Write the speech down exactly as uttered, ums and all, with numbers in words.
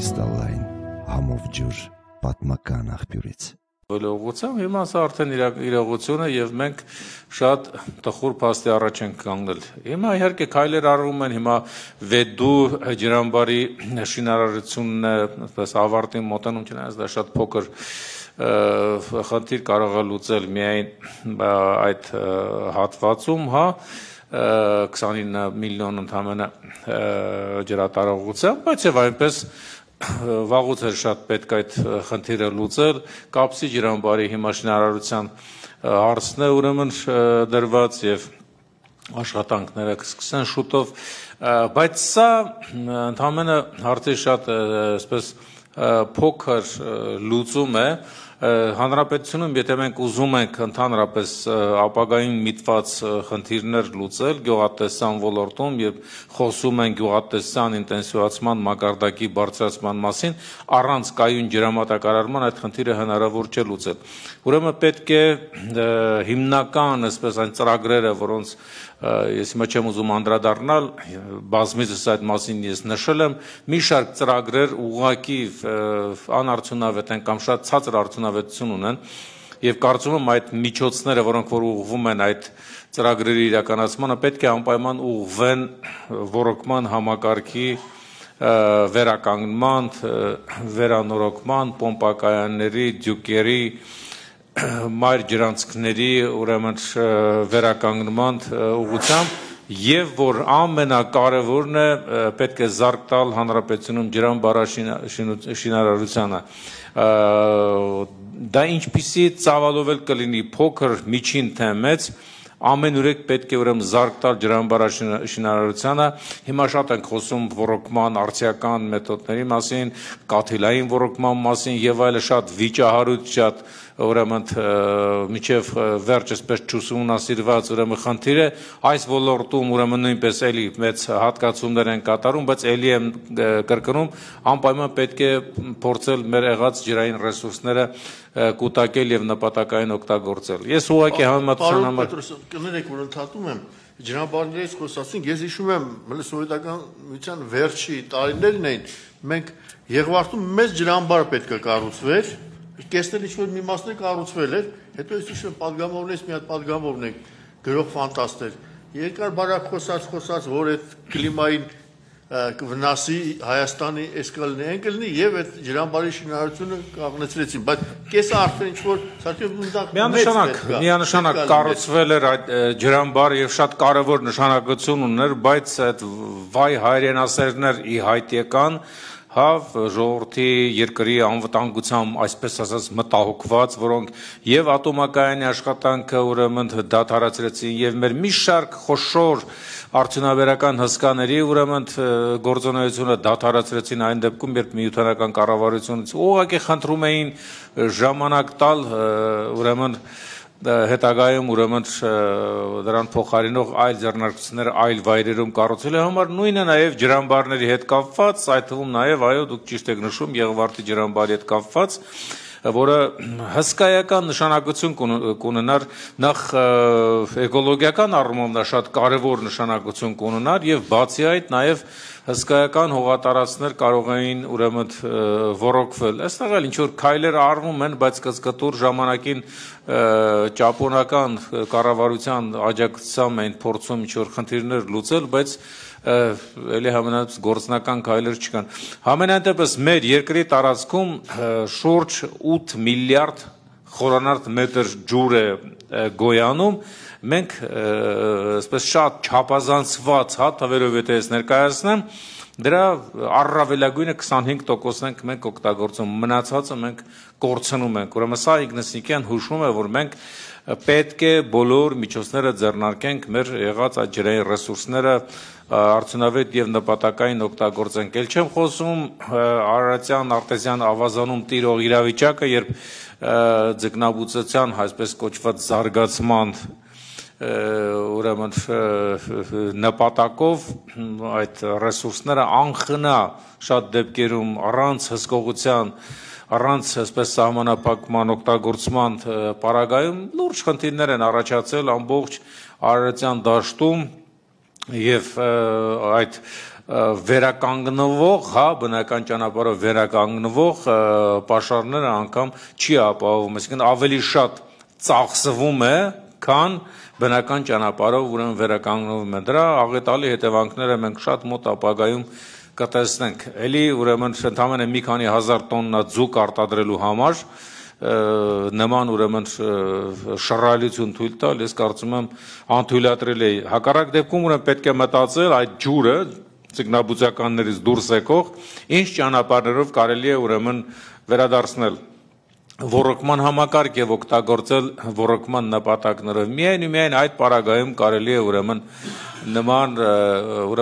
կրիստալային համով ջուր պատմական աղբյուրից։ Ուղղությամբ հիմա սա արդեն իրողություն է եւ մենք շատ տխուր փաստի առաջ ենք կանգնել։ Հիմա իհարկե քայլեր արվում են, հիմա Վեդու ջրամբարի շինարարությունն է, այսպես ավարտին մոտենում, չնայած դա շատ փոքր խնդիր կարող է լուծել միայն այդ հատվածում, հա, քսանինը միլիոն ընդամենը ջրատարողությամբ, բայց եւ այնպես վաղուց էր շատ պետք այդ խնդիրը լուծել, Կապսի ջրամբարի հիմա շինարարության հարցն է ուրեմն դրված եւ աշխատանքները կսկսեն շուտով, բայց սա ընդամենը հարցի շատ այսպես փոքր լուծում է Հանրապետությունում, եթե մենք ուզում ենք ընդհանրապես ապագային միտված խնդիրներ լուծել գյուղատնտեսության ոլորտում եւ խոսում են գյուղատնտեսության ինտենսիվացման մակարդակի բարձրացման մասին, առանց կայուն ջրամատակարարման այդ խնդիրը հնարավոր չէ լուծել։ Ուրեմն պետք է հիմնական, այսպես այն ծրագրերը, որոնց ես հիմա չեմ ուզում անդրադառնալ, բազմիցս այդ մասին ես նշել եմ, մի շարք ծրագրեր ուղղակի անարդյունավետ են կամ շատ ցածր արդյունավետություն ունեն եւ կարծում եմ այդ միջոցները, որոնք որ ուղղվում են այդ ծրագրերի իրականացմանը, պետք է անպայման ուղղվեն ռոռոկման համակարգի վերականգնման, վերանորոգման, պոմպակայանների, դյուկերի, մայր ջրանցքների ուրեմն վերականգնման ուղղությամբ եւ որ ամենակարևորն է պետք է զարգ տալ հանրապետությունում ջրամբարաշինարարությանը դա ինչպիսի ծավալով էլ կլինի փոքր միջին թե մեծ ամենուրեք պետք է ուրեմն զարգ տալ ջրամբարաշինարարությանը հիմա շատ ենք խոսում ռոռոկման արդիական մեթոդների մասին կաթիլային ռոռոկման մասին եւ այլը շատ վիճահարույց շատ ուրեմն միջև վերջ այսպես չուսումնասիրված ուրեմն խնդիր է այս ոլորտում ուրեմն նույնպես էլի մեծ հատկացումներ են կատարում բայց էլի եմ կրկնում անպայման պետք է փորձել մեր եղած ջրային ռեսուրսները կուտակել եւ նպատակային օգտագործել ես ուղղակի համեմատության համար կներեք որ ընդհատում եմ ջրամբարներից խոսացինք ես հիշում եմ սովետական միության վերջի տարիներն էին մենք Եղվարդում մեծ ջրամբար պետք է կառուցվեր Կեսնել ինչ-որ մի մասն է կառուցվել էր, հետո ես հիշում եմ պատգամավորներից մի հատ պատգամավորն է գրող ֆանտաստներ, երկար բարակ խոսած խոսած, որ այդ կլիմային վնասի Հայաստանի էս կլինի, այն կլինի եւ այդ ջրամբարի շինարարությունը կանգնեցրեցին, բայց կեսը արդեն ինչ-որ միանշանակ, միանշանակ կառուցվել էր այդ ջրամբարը եւ շատ կարեւոր նշանակություն ուներ, բայց այդ վայ հայրենասերներ ի հայտ եկան Հա, ժողովրդի երկրի անվտանգությամբ, այսպես ասած, մտահոգված, որոնք եւ ատոմակայանի աշխատանքը ուրեմն դադարեցրեցին եւ մեր մի շարք խոշոր արդյունաբերական հսկաների ուրեմն գործունեությունը դադարեցրեցին այն դեպքում, երբ միութանական կառավարությունից ուղղակի խնդրում էին ժամանակ տալ ուրեմն հետագայում ուրեմն դրան փոխարինող այլ ձեռնարկություններ այլ վայրերում կառուցելու համար նույնը նաև ջրամբարների հետ կապված, այդ թվում նաև այո դուք ճիշտ եք նշում Եղվարդի ջրամբարի հետ կապված, որը հսկայական նշանակություն կունենար նախ էկոլոգիական առումով նա շատ կարևոր նշանակություն կունենար եւ բացի այդ նաև հսկայական հողատարածքներ կարող էին ուրեմն ռոռոկվել։ Այստեղ էլ ինչ որ քայլեր արվում են, բայց կծկտուր ժամանակին ճապոնական կառավարության աջակցությամբ են փորձում ինչ որ խնդիրներ լուծել, բայց էլի համենայնպես գործնական քայլեր չկան։ Համենայն դեպս մեր երկրի տարածքում շուրջ ութ միլիարդ խորանարդ մետր ջուր է գոյանում մենք այսպես շատ չափազանցված հա թվերով եթե ես ներկայացնեմ դրա առավելագույնը քսանհինգ տոկոսն ենք մենք օգտագործում մնացածը մենք կորցնում ենք ուրեմն սա Իգնասյանն հուշում է որ մենք պետք է բոլոր միջոցները ձեռնարկենք մեր եղած այդ ջրային ռեսուրսները արդյունավետ եւ նպատակային օգտագործենք ել չեմ խոսում Արարատյան արտեզյան ավազանում տիրող իրավիճակը երբ ձկնաբուծության այսպես կոչված զարգացման ուրեմն նպատակով այդ ռեսուրսները անխնա շատ դեպքերում առանց հսկողության առանց այսպես սահմանափակման օգտագործման պարագայում լուրջ խնդիրներ են առաջացել ամբողջ Արարատյան դաշտում եւ այդ վերականգնվող, հա, բնական ճանապարհով վերականգնվող պաշարները անգամ չի ապահովում, այսինքն ավելի շատ ծախսվում է, քան բնական ճանապարհով ուրեմն վերականգնվում է։ Դրա աղետալի հետևանքները մենք շատ մոտ ապագայում կտեսնենք։ Էլի ուրեմն ընդամենը մի քանի հազար տոննա ձուկ արտադրելու համար նման ուրեմն շռայլություն թույլ տալ, ես կարծում եմ անթույլատրել է։ Հակառակ դեպքում ուրեմն պետք է մտածել այդ ջուրը ձկնաբուծականներից դուրս եկող ինչ ճանապարհներով կարելի է ուրեմն վերադարձնել ոռոգման համակարգ եւ օգտագործել ոռոգման նպատակներով։ Միայն ու միայն այդ պարագայում կարելի է ուրեմն նման ուրեմն